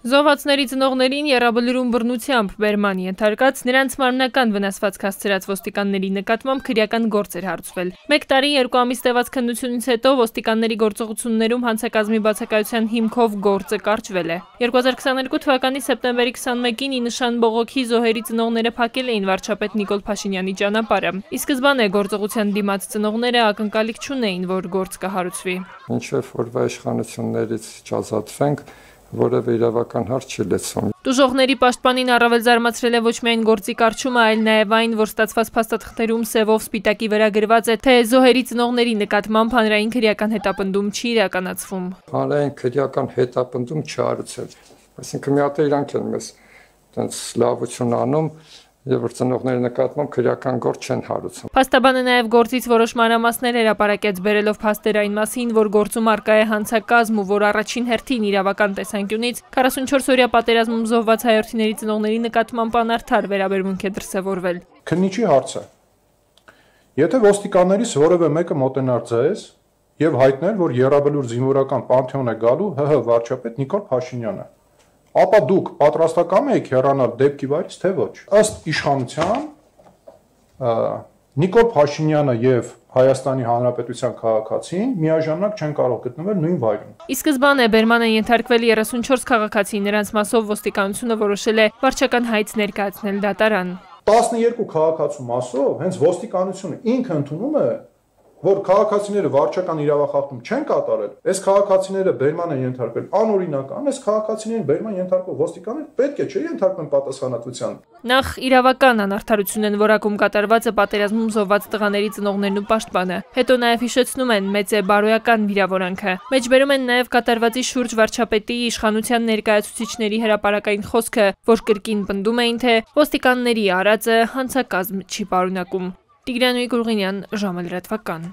Զոհվածների ծնողներին եռաբլուրում բռնությամբ բերման ենթարկած, նրանց մարմնական վնասվածք հասցրած ոստիկանների նկատմամբ քրեական գործ էր հարուցվել։ 1 տարի 2 ամիս տևած քննությունից հետո ոստիկանների գործողություններում հանցակազմի բացակայության հիմքով գործը կարճվել է։ 2022 թվականի սեպտեմբերի 21-ին ի նշան բողոքի զոհերի ծնողները փակել էին վարչապետ Նիկոլ Փաշինյանի ճանապարհը։ Ի սկզբանե գործողության դիմաց ծնողները ակնկալիք չունեին, որ գործ կհարուցվի։ Մինչև օրվա իշխանություններից չազատվենք, որևէ իրավական հարց չի լեցվում։ Տուժողների պաշտպանին առավել զարմացրել է ոչ միայն գործի կարճումը, այլ նաև այն, որ ստացված փաստաթղթերում սևով սպիտակի վրա գրված է, թե զոհերի ծնողների նկատմամբ հանրային քրեական հետապնդում չի իրականացվում։ Հանրային քրեական հետապնդում չարուցել։ Այսինքն մի հատ իրանք են մեզ այդպես լավություն անում, եւ որ ծնողների նկատմամբ քրեական գործ չեն հարուցում։ Փաստաբանը նաև գործից որոշ մանրամասներ հրապարակեց, բերելով փաստեր այն մասին, որ գործում առկա է հանցակազմ ու որ առաջին հերթին իրավական տեսանկյունից 44-օրյա պատերազմում զոհված հայրենիների ծնողների նկատմամբ անարդար վերաբերմունք է դրսևորվել։ Քննիչի հարցը. Եթե ոստիկաններից որևէ մեկը մոտենար ձեզ եւ հայտներ, որ եռաբլուր զինվորական պանթեոն է գալու ՀՀ վարչապետ Նիկոլ Փաշինյանը, ապա դուք պատրաստակամ եք հեռանալ դեպքի վայրից, թե ոչ։ Ըստ իշխանության Նիկոլ Փաշինյանը եւ Հայաստանի Հանրապետության քաղաքացին միաժամանակ չեն կարող գտնվել նույն վայրում։ Ի սկզբանե բերման են ենթարկվել 34 քաղաքացի, նրանց մասով ոստիկանությունը որոշել է վարչական հայց ներկայացնել դատարան։ 12 քաղաքացու մասով հենց ոստիկանությունը ինքը ընդունում է, որ քաղաքացիները վարչական իրավախախտում չեն կատարել, այս քաղաքացիները բերման են ենթարկվել անօրինական, այս քաղաքացիներին բերման ենթարկող ոստիկանները պետք է չէ ենթարկվեն պատասխանատվության։ Նախ իրավական անարդարություն են որակում կատարվածը պատերազմում զոհված տղաների ծնողներն ու պաշտպանը։ Հետո նաև հիշեցնում են մեծ է բարոյական վիրավորանքը։ Մեջբերում են նաև կատարվածի շուրջ վարչապետի իշխանության ներկայացուցիչների հրապարակային խոսքը, որ կրկին պնդում էին, թե ոստիկանների արածը հանցակազմ չի պարունակում։ Տիգրան Գուրգենյան, ժամը լրատվական։